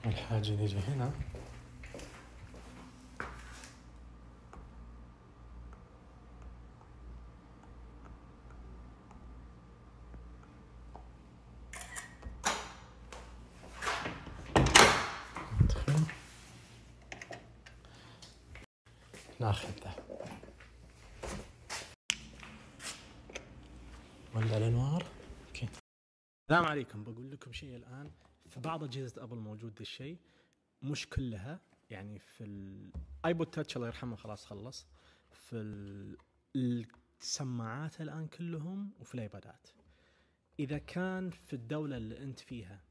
الحاجة نيجي هنا ندخل ناخذ ذا ولع الأنوار. اوكي، السلام عليكم. بقول لكم شيء الآن. في بعض أجهزة أبل موجود ذا الشيء، مش كلها. يعني في الايبود تاتش الله يرحمه خلاص خلص، في السماعات الآن كلهم، وفي الايبادات. إذا كان في الدولة اللي أنت فيها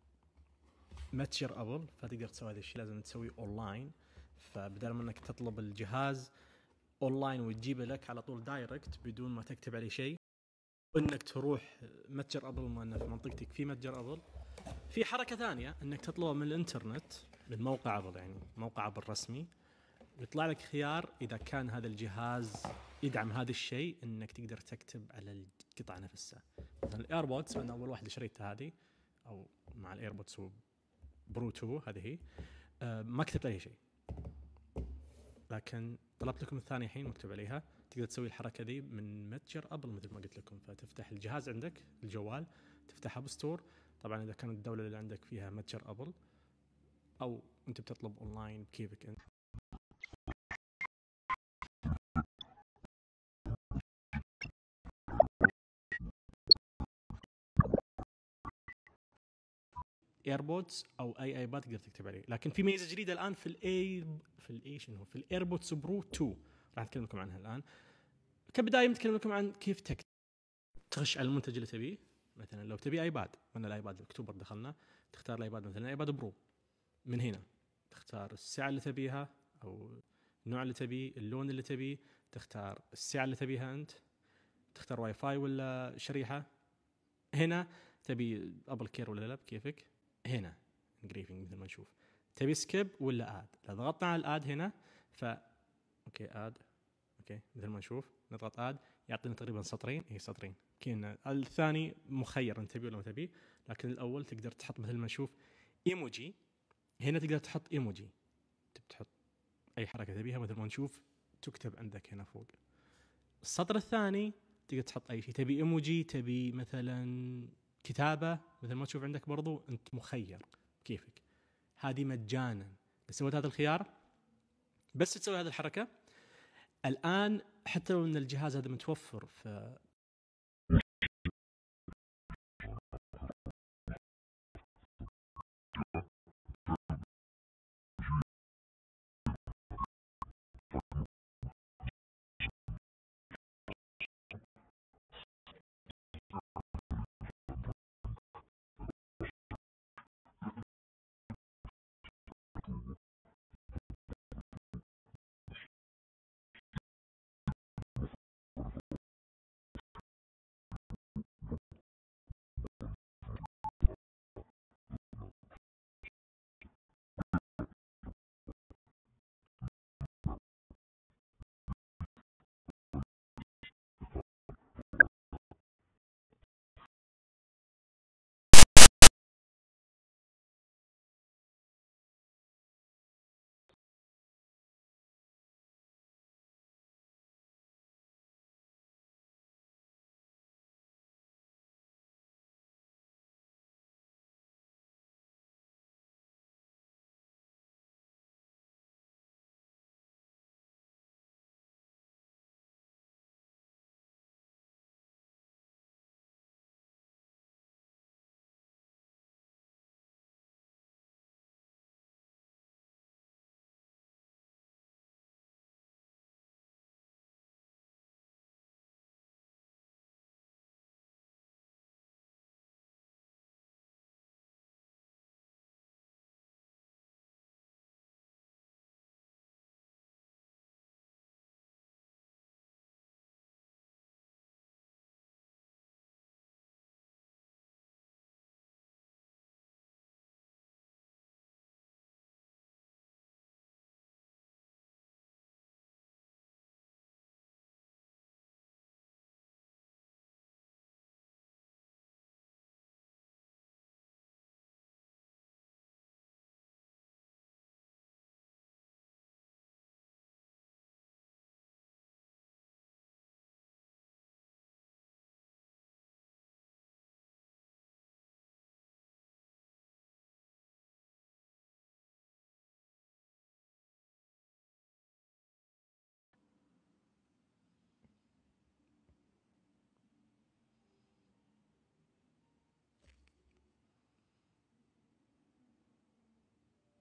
متجر أبل فتقدر تسوي هذا الشيء، لازم تسويه أونلاين. فبدل ما أنك تطلب الجهاز أونلاين وتجيبه لك على طول دايركت بدون ما تكتب عليه شيء، وإنك تروح متجر أبل، ما أنه في منطقتك في متجر أبل، في حركة ثانية أنك تطلبه من الإنترنت من موقع أبل، يعني موقع أبل رسمي، ويطلع لك خيار إذا كان هذا الجهاز يدعم هذا الشيء، أنك تقدر تكتب على القطعة نفسها. مثلا الإيربودز، أنا أول واحدة شريتها هذه، أو مع الإيربودز برو 2 هذه هي، ما كتبت أي شيء، لكن طلبت لكم الثانية الحين مكتوب عليها. تقدر تسوي الحركة ذي من متجر أبل مثل ما قلت لكم. فتفتح الجهاز عندك الجوال، تفتح أب ستور، طبعا إذا كانت الدولة اللي عندك فيها متجر أبل، أو أنت بتطلب أونلاين بكيفك أنت. ايربودز او اي ايباد تقدر تكتب عليه. لكن في ميزه جديده الان في الايربودز برو 2 راح اتكلم لكم عنها الان. كبدايه نتكلم لكم عن كيف تخش على المنتج اللي تبيه. مثلا لو تبي ايباد، من الايباد اكتوبر دخلنا، تختار الايباد مثلا ايباد برو. من هنا تختار السعه اللي تبيها، او النوع اللي تبيه، اللون اللي تبيه، تختار السعه اللي تبيها انت، تختار واي فاي ولا شريحه. هنا تبي ابل كير ولا لا بكيفك. هنا انجريفنج مثل ما نشوف، تبي سكيب ولا اد. لو ضغطنا على الاد هنا اوكي اد، اوكي مثل ما نشوف نضغط اد يعطينا تقريبا سطرين، سطرين. كنا الثاني مخير انت تبيه ولا ما تبيه، لكن الاول تقدر تحط مثل ما نشوف ايموجي. هنا تقدر تحط ايموجي، تحط اي حركه تبيها مثل ما نشوف تكتب عندك هنا فوق. السطر الثاني تقدر تحط اي شيء تبي، ايموجي، تبي مثلا كتابه مثل ما تشوف عندك، برضو انت مخير كيفك. هذه مجانا. بس سويت هذا الخيار، بس تسوي هذه الحركه الان، حتى لو ان الجهاز هذا متوفر في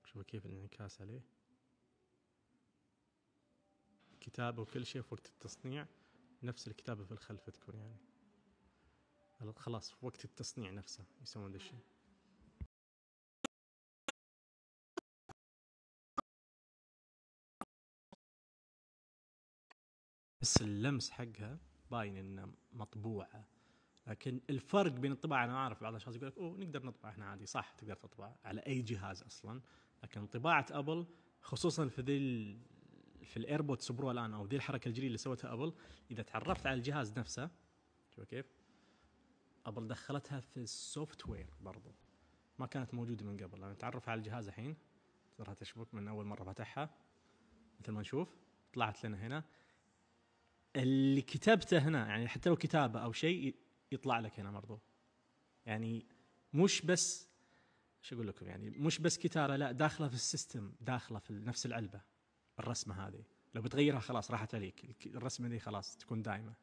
شوفوا كيف الانعكاس عليه، كتابة وكل شيء في وقت التصنيع نفس الكتابة في الخلف تكون يعني خلاص في وقت التصنيع نفسه يسوون ذا الشيء. بس اللمس حقها باين انه مطبوعة، لكن الفرق بين الطباعة انا اعرف بعض الاشخاص يقول لك اوه نقدر نطبع احنا عادي، صح تقدر تطبع على اي جهاز اصلا، لكن طباعة ابل خصوصا في في الايربودز برو الان او ذي الحركة الجديدة اللي سوتها ابل، اذا تعرفت على الجهاز نفسه شوف كيف ابل دخلتها في السوفت وير برضو ما كانت موجودة من قبل. انا اتعرف على الجهاز الحين ترى تشبك من اول مرة فتحها مثل ما نشوف طلعت لنا هنا اللي كتبته هنا، يعني حتى لو كتابة او شيء يطلع لك هنا برضو، يعني مش بس شو اقول لكم يعني مش بس كتابة، لا داخلة في السيستم، داخلة في نفس العلبة. الرسمة هذه لو بتغيرها خلاص راحت عليك، الرسمة دي خلاص تكون دائمة.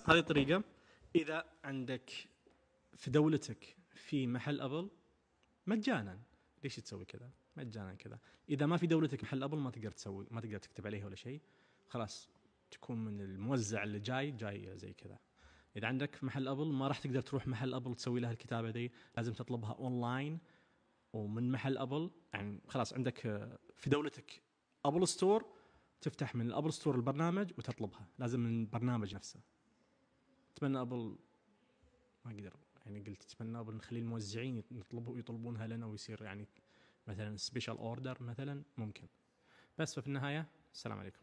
هذه طريقة إذا عندك في دولتك في محل أبل مجانا، ليش تسوي كذا مجانا كذا؟ إذا ما في دولتك محل أبل ما تقدر تسوي، ما تقدر تكتب عليه ولا شيء، خلاص تكون من الموزع اللي جاي زي كذا. إذا عندك في محل أبل ما راح تقدر تروح محل أبل تسوي لها الكتابة دي، لازم تطلبها أونلاين ومن محل أبل. يعني خلاص عندك في دولتك أبل ستور، تفتح من الأبل ستور البرنامج وتطلبها، لازم من البرنامج نفسه. أتمنى أبل ما قدر يعني قلت اتمنى نخلي الموزعين يطلبونها لنا ويصير يعني مثلا سبيشال اوردر مثلا ممكن. بس ففي النهايه السلام عليكم.